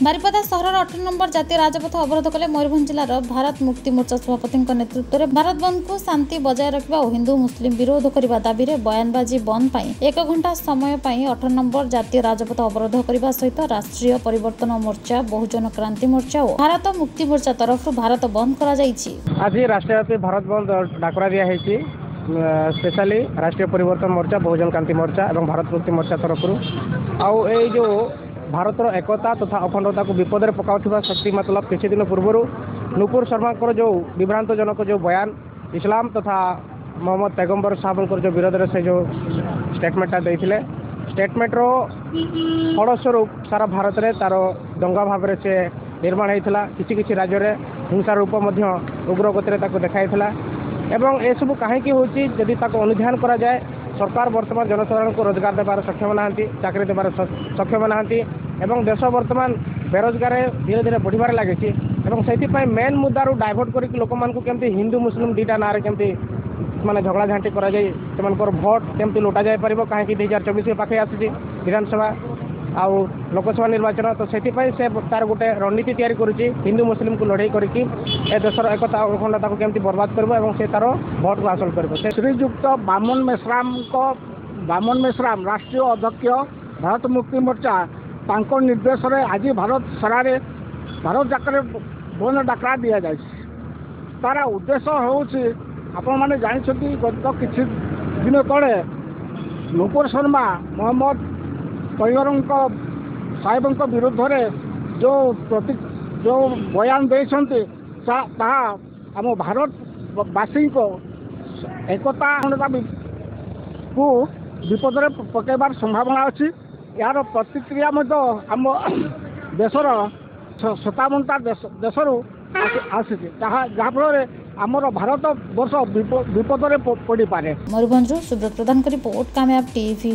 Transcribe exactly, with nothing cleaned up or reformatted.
ବାରିପଦା ସହରର ଅଠର ନମ୍ବର ଜାତୀୟ ରାଜପଥ ଅବରୋଧ କଲେ ମୟୂରଭଞ୍ଜ ଜିଲ୍ଲାର ଭାରତ ମୁକ୍ତି ମୋର୍ଚ୍ଚା ସଭାପତିଙ୍କ ନେତୃତ୍ୱରେ ଭାରତ ବନ୍ଦକୁ ଶାନ୍ତି ବଜାୟ ରଖିବା ଓ ହିନ୍ଦୁ ମୁସଲିମ ବିରୋଧ କରିବା ଦାବିରେ ବୟାନବାଜି ବନ୍ଦ ପାଇଁ ଏକ ଘଣ୍ଟା ସମୟ ପାଇଁ ଅଠର ନମ୍ବର ଜାତୀୟ ରାଜପଥ ଅବରୋଧ କରିବା ସହିତ ରାଷ୍ଟ୍ରୀୟ ପରିବର୍ତ୍ତନ ମୋର୍ଚ୍ଚା, ବହୁଜନ କ୍ରାନ୍ତି ମୋର୍ଚ୍ଚା ଓ ଭାରତ ମୁକ୍ତି ମୋର୍ଚ୍ଚା ତରଫରୁ ଭାରତ ବନ୍ଦ କରାଯାଇଛି। ଆଜି ରାଷ୍ଟ୍ରବ୍ୟାପୀ ଭାରତ ବନ୍ଦ ଡାକରା ଦିଆହେଇଛି, ସ୍ପେଶାଲି ରାଷ୍ଟ୍ରୀୟ ପରିବର୍ତ୍ତନ ମୋର୍ଚ୍ଚା, ବହୁଜନ କ୍ରାନ୍ତି ମୋର୍ଚ୍ଚା ଏବଂ ଭାରତ ମୁକ୍ତି ମୋର୍ଚ୍ଚା ତରଫରୁ। ଆଉ ଏଇ ଯେଉଁ ଭାରତର ଏକତା ତଥା ଅଖଣ୍ଡତାକୁ ବିପଦରେ ପକାଉଥିବା ଶକ୍ତି, ମତଲବ କିଛି ଦିନ ପୂର୍ବରୁ ନୂପୁର ଶର୍ମାଙ୍କର ଯେଉଁ ବିଭ୍ରାନ୍ତଜନକ ଯେଉଁ ବୟାନ, ଇସଲାମ ତଥା ମହମ୍ମଦ ପେଗମ୍ବର ସାହେବଙ୍କର ଯେଉଁ ବିରୋଧରେ ସେ ଯେଉଁ ଷ୍ଟେଟମେଣ୍ଟଟା ଦେଇଥିଲେ, ଷ୍ଟେଟମେଣ୍ଟର ଫଳସ୍ୱରୂପ ସାରା ଭାରତରେ ତାର ଦଙ୍ଗା ଭାବରେ ସେ ନିର୍ମାଣ ହେଇଥିଲା। କିଛି କିଛି ରାଜ୍ୟରେ ହିଂସା ରୂପ ମଧ୍ୟ ଉଗ୍ର ଗତିରେ ତାକୁ ଦେଖାଇଥିଲା। ଏବଂ ଏସବୁ କାହିଁକି ହେଉଛି, ଯଦି ତାକୁ ଅନୁଧ୍ୟାନ କରାଯାଏ, ସରକାର ବର୍ତ୍ତମାନ ଜନସାଧାରଣଙ୍କୁ ରୋଜଗାର ଦେବାର ସକ୍ଷମ ନାହାନ୍ତି, ଚାକିରି ଦେବାର ସକ୍ଷମ ନାହାନ୍ତି ଏବଂ ଦେଶ ବର୍ତ୍ତମାନ ବେରୋଜଗାର ଧୀରେ ଧୀରେ ବଢ଼ିବାରେ ଲାଗିଛି। ଏବଂ ସେଥିପାଇଁ ମେନ୍ ମୁଦ୍ଦାରୁ ଡାଇଭର୍ଟ କରିକି ଲୋକମାନଙ୍କୁ କେମିତି ହିନ୍ଦୁ ମୁସଲିମ ଦୁଇଟା ନାଁରେ କେମିତି ମାନେ ଝଗଡ଼ାଝାଣ୍ଟି କରାଯାଇ ସେମାନଙ୍କର ଭୋଟ କେମିତି ଲୁଟା ଯାଇପାରିବ, କାହିଁକି ଦୁଇ ହଜାର ଚବିଶ ପାଖେଇ ଆସୁଛି ବିଧାନସଭା ଆଉ ଲୋକସଭା ନିର୍ବାଚନ, ତ ସେଥିପାଇଁ ସେ ତାର ଗୋଟେ ରଣନୀତି ତିଆରି କରୁଛି, ହିନ୍ଦୁ ମୁସଲିମକୁ ଲଢ଼େଇ କରିକି ଏ ଦେଶର ଏକତା ଅଖଣ୍ଡତାକୁ କେମିତି ବର୍ବାଦ କରିବ ଏବଂ ସେ ତାର ଭୋଟକୁ ହାସଲ କରିବ। ସେ ଶ୍ରୀଯୁକ୍ତ ବାମନ ମେଶ୍ରାମଙ୍କ, ବାମନ ମେଶ୍ରାମ ରାଷ୍ଟ୍ରୀୟ ଅଧ୍ୟକ୍ଷ ଭାରତ ମୁକ୍ତି ମୋର୍ଚ୍ଚା, ତାଙ୍କ ନିର୍ଦ୍ଦେଶରେ ଆଜି ଭାରତ ସାରାରେ ଭାରତ ଯାକରେ ବନ୍ଦ ଡାକରା ଦିଆଯାଇଛି। ତାର ଉଦ୍ଦେଶ୍ୟ ହେଉଛି, ଆପଣମାନେ ଜାଣିଛନ୍ତି, ଗତ କିଛି ଦିନ ତଳେ ନୂପୁର ଶର୍ମା ମହମ୍ମଦ ତୈୟରଙ୍କ ସାହେବଙ୍କ ବିରୁଦ୍ଧରେ ଯେଉଁ ପ୍ରତି ଯେଉଁ ବୟାନ ଦେଇଛନ୍ତି, ତାହା ଆମ ଭାରତବାସୀଙ୍କ ଏକତା କୁ ବିପଦରେ ପକାଇବାର ସମ୍ଭାବନା ଅଛି। ଏହାର ପ୍ରତିକ୍ରିୟା ମଧ୍ୟ ଆମ ଦେଶର ସତାବନଟା ଦେଶ ଦେଶରୁ ଆସିଛି, ତାହା ଯାହାଫଳରେ ଆମର ଭାରତ ବର୍ଷ ବିପଦରେ ପଡ଼ିପାରେ। ମୟୂରଭଞ୍ଜରୁ ସୁବ୍ରତ ପ୍ରଧାନଙ୍କ ରିପୋର୍ଟ, କାମୟାବ ଟିଭି।